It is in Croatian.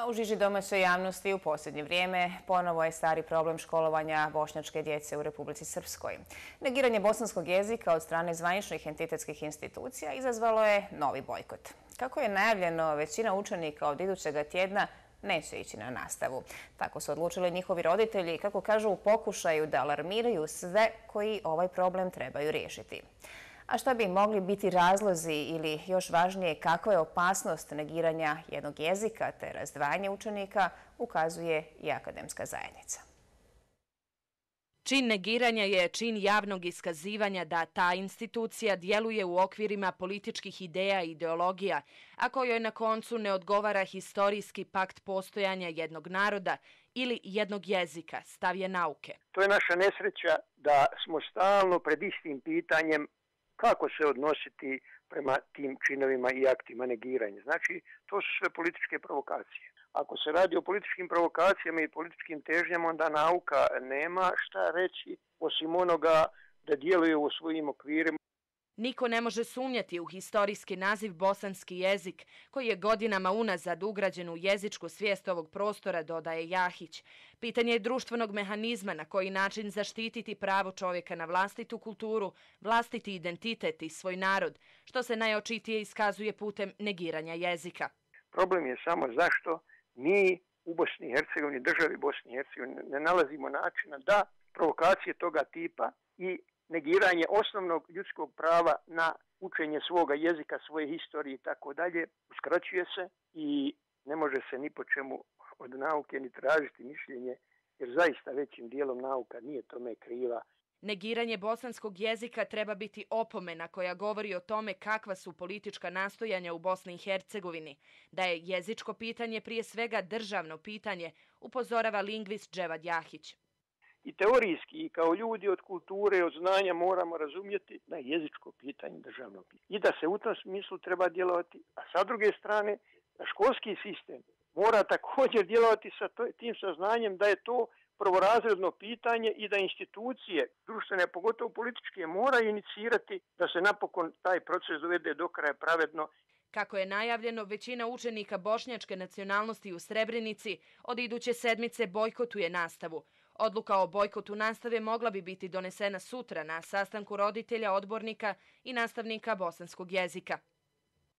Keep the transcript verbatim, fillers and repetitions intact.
A u žiži domaćoj javnosti u posljednje vrijeme ponovo je stari problem školovanja bošnjačke djece u Republici Srpskoj. Negiranje bosanskog jezika od strane zvaničnih entitetskih institucija izazvalo je novi bojkot. Kako je najavljeno, većina učenika od idućega tjedna neće ići na nastavu. Tako su odlučili njihovi roditelji, kako kažu, u pokušaju da alarmiraju sve koji ovaj problem trebaju riješiti. A šta bi mogli biti razlozi ili, još važnije, kakva je opasnost negiranja jednog jezika te razdvajanje učenika, ukazuje i akademska zajednica. Čin negiranja je čin javnog iskazivanja da ta institucija djeluje u okvirima političkih ideja i ideologija, a kojoj na koncu ne odgovara historijski pakt postojanja jednog naroda ili jednog jezika, stav je nauke. To je naša nesreća da smo stalno pred istim pitanjem kako se odnositi prema tim činovima i aktima negiranja. Znači, to su sve političke provokacije. Ako se radi o političkim provokacijama i političkim težnjama, onda nauka nema šta reći osim onoga da djeluje u svojim okvirima. Niko ne može sumnjati u historijski naziv bosanski jezik, koji je godinama unazad ugrađen u jezičku svijest ovog prostora, dodaje Jahić. Pitanje je društvenog mehanizma na koji način zaštititi pravo čovjeka na vlastitu kulturu, vlastiti identitet i svoj narod, što se najočitije iskazuje putem negiranja jezika. Problem je samo zašto mi u Bosni i Hercegovini, državi Bosni i Hercegovini, ne nalazimo načina da provokacije toga tipa i negiranje osnovnog ljudskog prava na učenje svoga jezika, svoje historije i tako dalje, uskraćuje se i ne može se ni po čemu od nauke ni tražiti mišljenje, jer zaista većim dijelom nauka nije tome kriva. Negiranje bosanskog jezika treba biti opomena koja govori o tome kakva su politička nastojanja u Bosni i Hercegovini, da je jezičko pitanje prije svega državno pitanje, upozorava lingvist Dževad Jahić. I teorijski, i kao ljudi od kulture, od znanja moramo razumjeti da je jezičko pitanje državno pitanje. I da se u tom smislu treba djelovati, a sa druge strane, školski sistem mora također djelovati sa tim saznanjem da je to prvorazredno pitanje i da institucije društvene, pogotovo političke, moraju inicirati da se napokon taj proces dovede do kraja pravedno. Kako je najavljeno, većina učenika bošnjačke nacionalnosti u Srebrenici od iduće sedmice bojkotuje nastavu. Odluka o bojkotu nastave mogla bi biti donesena sutra na sastanku roditelja, odbornika i nastavnika bosanskog jezika.